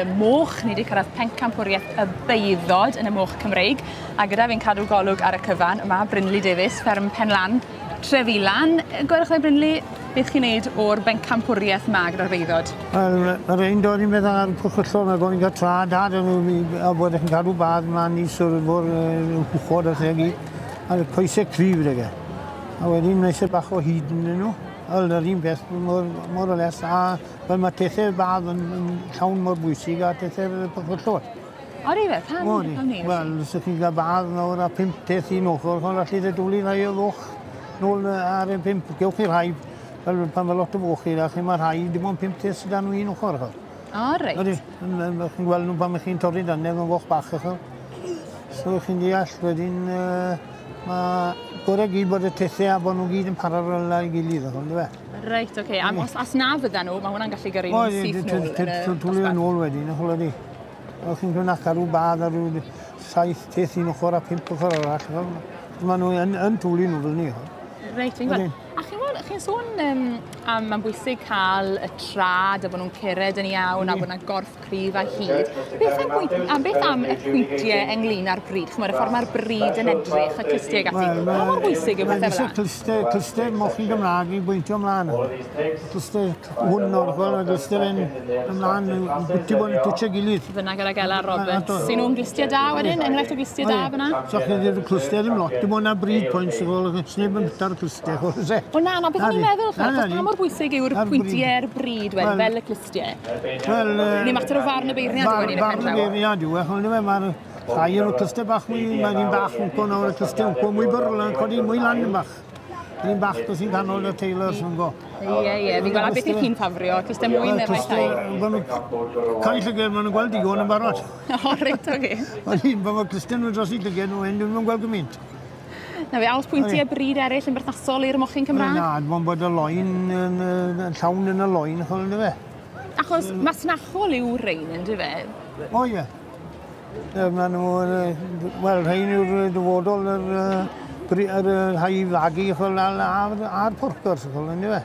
y moch. Ni wedi cyrraedd pencampwriaeth y Beuddod yn y moch Cymreig. A gyda fi'n cadw golwg ar y cyfan, mae Brynley Davies, fferm Penlan, Trefilan. Gwelwch chi Brynley, beth chi'n neud o'r bencampwriaeth ma gyda'r Beuddod? Wel, mae'r ein dod i'n meddwl ar pwchwllo, mae bod ni'n cael tra dad a bod chi'n cadw badd mlaen i swrdd o'r hwchod a lle gyd. A'r coesau cryf gyda ge. A wedyn mae eisiau bach o hyd yn nhw. Wel, yr un peth, mor o less, a fel mae tethau badd yn llawn mor bwysig a tethau pwchwllod. Odi fe? Pam? Pam ni? Wel, os ydych chi'n cael badd nawr a 5 teth un ochr, chon allu dy dwlu rhai o foch nôl ar y 5. Gewch chi rhai, fel pan mae lot o foch chi, chi mae rhai, dim ond 5 teth sydd dan nhw un ochr. Chon. O, reit. Odi, chi'n gweld nhw pan chi'n torri dannedd yn foch bach. Chon. So chi'n deall, wedyn, mae gorau gyd bod y tethau a bod nhw gyd yn paralel â'i gilydd, on'd yw e? Reit, oce. A os na fydda nhw, mae hwnna'n gallu gyrru nhw'n syth nôl yn y dosbarth. Nôl wedyn, ch'wel ydi. O'ch chi'n gwneud cadw badd ar ryw 7 teth un ochr a 5 ochr arall. Mae nhw yn twlu nhw fel ni. Reit, fi'n gweld. A chi'n gweld, chi'n sôn am mae'n bwysig cael y trad a bod nhw'n cered yn iawn a bod yna gorff cryf a hyd. Beth am y pwyntiau ynglyn â'r bryd? Ch'mod, y ffordd mae'r bryd yn edrych, y clustiau ac ati. Pa mor bwysig yw pethau fel 'na? Clustiau mochyn Gymraeg i bwyntio ymlaen. Clustiau hwn o'r chwel, mae clustiau fe'n ymlaen, bwyty bod yn twtio gilydd. Fyna gyda Gela Roberts. Sy'n nhw'n glustiau da wedyn? Enghraifft o glustiau da fyna? So chi ddim clustiau ddim lot, dim ond na bryd points, sneb yn byta'r clustiau. O na, beth o'n i'n meddwl, ch'mod, pa mor bwysig yw'r pwyntiau'r bryd wedyn, fel y clustiau? Wel, Neu mater o farn y beirniad yw hynny yn y pen draw? Barn y beirniad yw e, ch'mod, mae'r rhai o'r clustiau bach mwy, mae'n un bach wmpo nawr, y clustiau wmpo mwy byrl, yn codi mwy lan yn bach. Yr un bach dos i'n canol y Taylors yn go. Ie, fi'n gweld, a beth ych chi'n ffafrio? Clustiau mwy neu rhai llai? Cael llyged, maen nhw'n gweld digon yn barod. O, reit, oce. Ond un, pan mae clustiau nhw'n dros i llyged nhw, hyn, dwi'n gweld gymaint. Na fe, a oes pwyntiau bryd eraill yn berthnasol i'r mochyn Cymraeg? Na, dim ond bod y loen yn llawn yn y loen, ch'wel, yndyfe? Achos masnachol yw rhein, yndyfe? O, ie. Maen nhw, wel, rhein yw'r dyfodol yr rhai fagu, ch'wel, a'r porcors, ch'wel, yndyfe?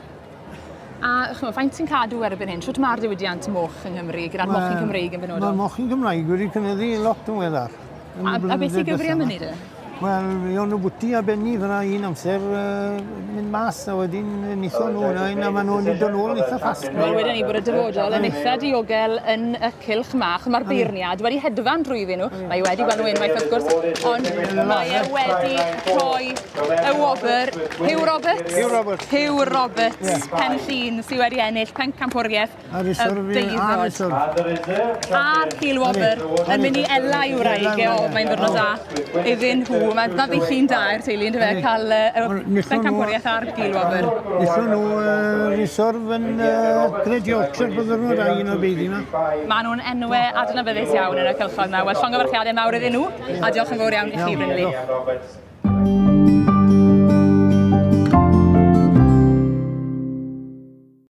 A ch'mod, faint sy'n cadw erbyn hyn? Shwt mae'r diwydiant moch yng Nghymru, gyda'r mochyn Cymreig yn benodol? Mae'r mochyn Cymraeg wedi cynyddu lot yn weddar. A beth sy'n gyfri am hynny de? Wel, o'n nhw bwyty a benni fyna un amser mynd mas a wedyn nithon nhw yna, a maen nhw'n dod nôl eitha fast. Wel, wedyn ni bod y dyfodol yn eitha diogel yn y cylch mach. Mae'r beirniad wedi hedfan drwyddyn nhw. Mae wedi gweld nhw unwaith wrth gwrs, ond mae e wedi rhoi y wobr. Hugh Roberts. Hugh Roberts. Hugh Roberts, Pen Llŷn, sydd wedi ennill pencampwriaeth y Beuddod. A'r Gil Wobr yn mynd i ela i'w wraig e, o, mae'n ddwrnod da iddyn nhw. Mae ddydd Llun da i'r teulu, yndyfe, cael y pencampwriaeth a'r Gil Wobr. Nithon nhw reserve yn Great Yorkshire bydden nhw da un o'r beiddi yma. Maen nhw'n enwau adnabyddus iawn yn y cylchoedd yma. Wel, llongyfarchiadau mawr iddyn nhw, a diolch yn fawr iawn i chi, Brynley.